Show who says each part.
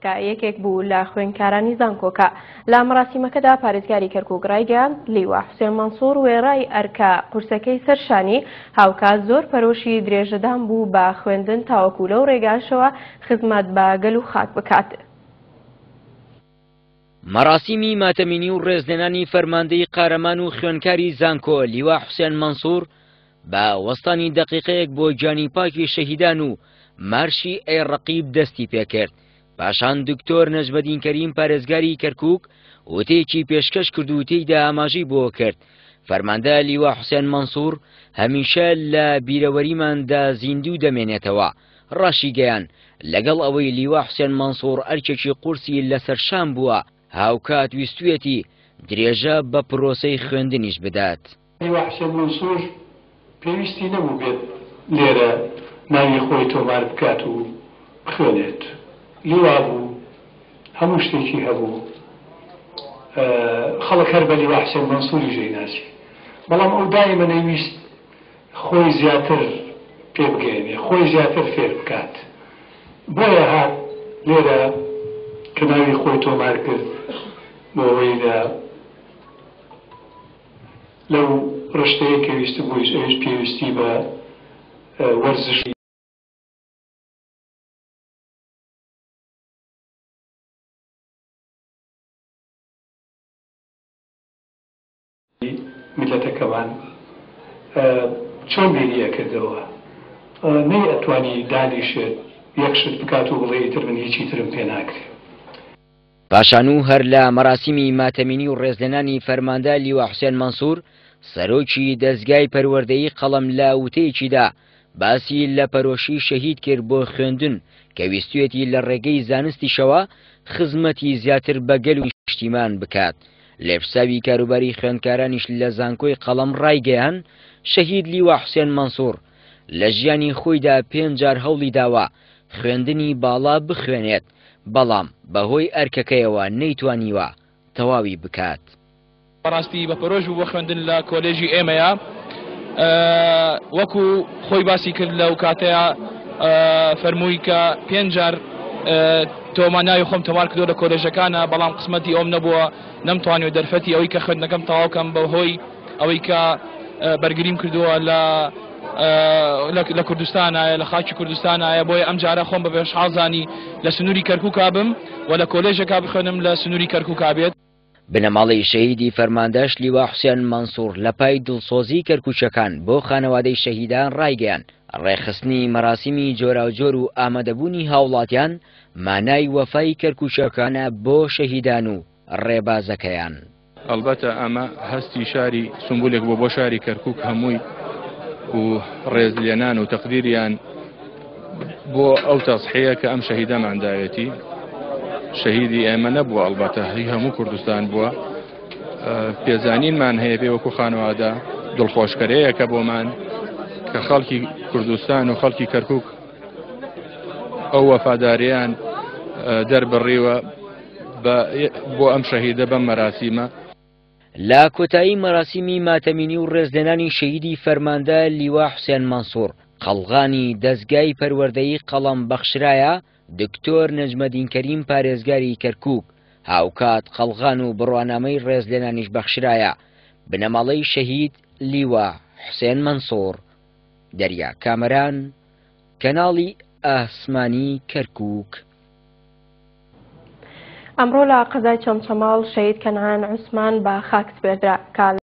Speaker 1: کە یەکێک بوو لە خوێندکارانی زانکۆکە. لە مەراسیمەکەدا پارێزگاری کەرکوک ڕایگەیاند، لیوا حوسێن مەنسوڕ وێڕای ئەرکە قورسەکەی سەر شانی، هاوکات زۆر پەرۆشی درێژەدان بوو بە خوێندن تاوەکو لەو ڕێگاشەوە خزمەت بە گەل و خاک بکات.
Speaker 2: مەراسیمی ماتەمینی و ڕێزلێنانی فەرماندەی قارەمان و خوێندکاری زانکۆ لیوا حوسێن مەنسوڕ بە وەستانی دەقیقەیەک بۆ گیانی پاکی شەهیدان و مارشی ئەی ڕەقیب دەستی پێکرد. پاشان دکتۆر نەجمەدین کەریم پارێزگاری کەرکوک وتەیەکی پێشکەش کرد و تێیدا ئاماژەی بۆ کرد فەرماندە لیوا حوسێن مەنسوور هەمیشە لە بیرەوەریماندا زیندوو دەمێنێتەوە. ڕاشیگەیاند، لەگەڵ ئەوەی لیوا حوسێن مەنسوور ئەرکێکی قورسی لەسەر شان بووە، هاوکات ویستویەتی درێژە بە پرۆسەی خوێندنیش بدات.
Speaker 3: لیوا حوسێن مەنسوور پێویستی نەبوو بێت لێرە ناوی خۆی تۆمار بکات و بخوێنێت. لیوا بوو، هەموو شتێکی هەبوو. خەڵک هەر بە لیوا حوسێن مەنسووریش دەیناسی. بەڵام ئەو دایمە نەیویست خۆی زیاتر پێ بگەیەنێ، خۆی زیاتر فێر بکات. بۆیە هات لێرە کە ناوی خۆی تۆمار کرد بۆ ئەوەی لە لەو ڕشتەیە کە ویستبوویش ئەویش پێویستی بە وەرزشی. میللەتەکەمان چۆن بیری ئەکردەوە؟ نەی ئەتوانی دانیشێت یەک شت بکات و بڵێ ئیتر من هیچی ترم پێ ناکرێ.
Speaker 2: پاشان و هەر لە مەراسیمی ماتەمینی و ڕێزلێنانی فەرماندە لیوا حوسێن مەنسوور، سەرۆکی دەزگای پەروەردەیی قەڵەم لە وتەیەکیدا باسی لە پەرۆشی شەهید کرد بۆ خوێندن کە ویستویەتی لە ڕێگەی زانستیشەوە خزمەتی زیاتر بە گەل و نیشتیمان بکات. لێپرسراوی کاروباری خوێندکارانیش لە زانکۆی قەڵەم ڕایگەیاند، شەهید لیوا حوسێن مەنسوڕ لە ژیانی خۆیدا پێنج جار هەوڵی داوە خوێندنی باڵا بخوێنێت، بەڵام بەهۆی ئەرکەکەیەوە نەیتوانیوە تەواوی بکات.
Speaker 4: بەڕاستی بە پەرۆش بوو بۆ خوێندن لە کۆلێژی ئێمەیە وەکو خۆی باسی کرد لەو کاتەیە فەرمووی کە پێنج جار تۆما ناوی خۆم تۆمار کردو لە کۆلێژەکانە بەڵام قسمەتی ئەوم نەبووە نەمتوانیوە دەرفەتی ئەوەی کە خوێندنەکەم تەواو کەم بەهۆی ئەوەی کە بەرگریم کردووە لە لە کوردستانایە لە خاکی کوردستانایە بۆیە ئەم جارە خۆم بە بێشحاڵ زانی لە سنووری کەرکووکا بم و لە کۆلێژێکا بخوێنم لە سنووری کەرکووکا بێت.
Speaker 2: بنەماڵەی شەهیدی فەرماندەش لیوا حوسێن مەنسوڕ لە پای دڵسۆزیی کەرکووکییەکان بۆ خانەوادەی شەهیدان ڕایگەیاند، ڕێکخستنی مەراسیمی جۆراوجۆر و ئامادەبوونی هاوڵاتیان مانای وەفای کەرکووکییەکانە بۆ شەهیدان و ڕێبازەکەیان.
Speaker 5: ئەڵبەتە ئەمە هەستی شاری سمبولێک بووە بۆ شاری کەرکووک هەمووی و ڕێزلێنان و تەقدیریان بۆ ئەو تەزحەیە کە ئەم شەهیدەمان داوێتی شەهیدی ئێمە نەبووە ئەڵبەتە هی هەموو کوردستان بووە پێزانینمان هەیە پێ وەکو خانەوادە دڵخۆشکەرەیە کە بۆمان کە خەڵکی کوردستان و خەڵکی کەرکک ئەو وەفاداریان دەربڕیوە بۆ ئەم شەهیدە بەم مەراسیمە.
Speaker 2: لە کۆتایی مەراسیمی ماتەمینی و ڕێزلێنانی شەهیدی فەرماندە لیوا حوسێن مەنسوڕ، قەڵغانی دەزگای پەروەردەیی قەڵەم بەخشرایە دکتۆر نەجمەدین کەریم پارێزگاری کەرکوک، هاوکات قەڵغان و بڕوانامەی ڕێزلێنانیش بەخشرایە بنەماڵەی شەهید لیوا حوسێن مەنسوڕ. دەریا کامەران، کەناڵی ئاسمانی کەرکوک.
Speaker 1: ئەمڕۆ لە قەزای چەمچەماڵ شەهید کەنعان عوسمان بە خاک سپێردرا کە.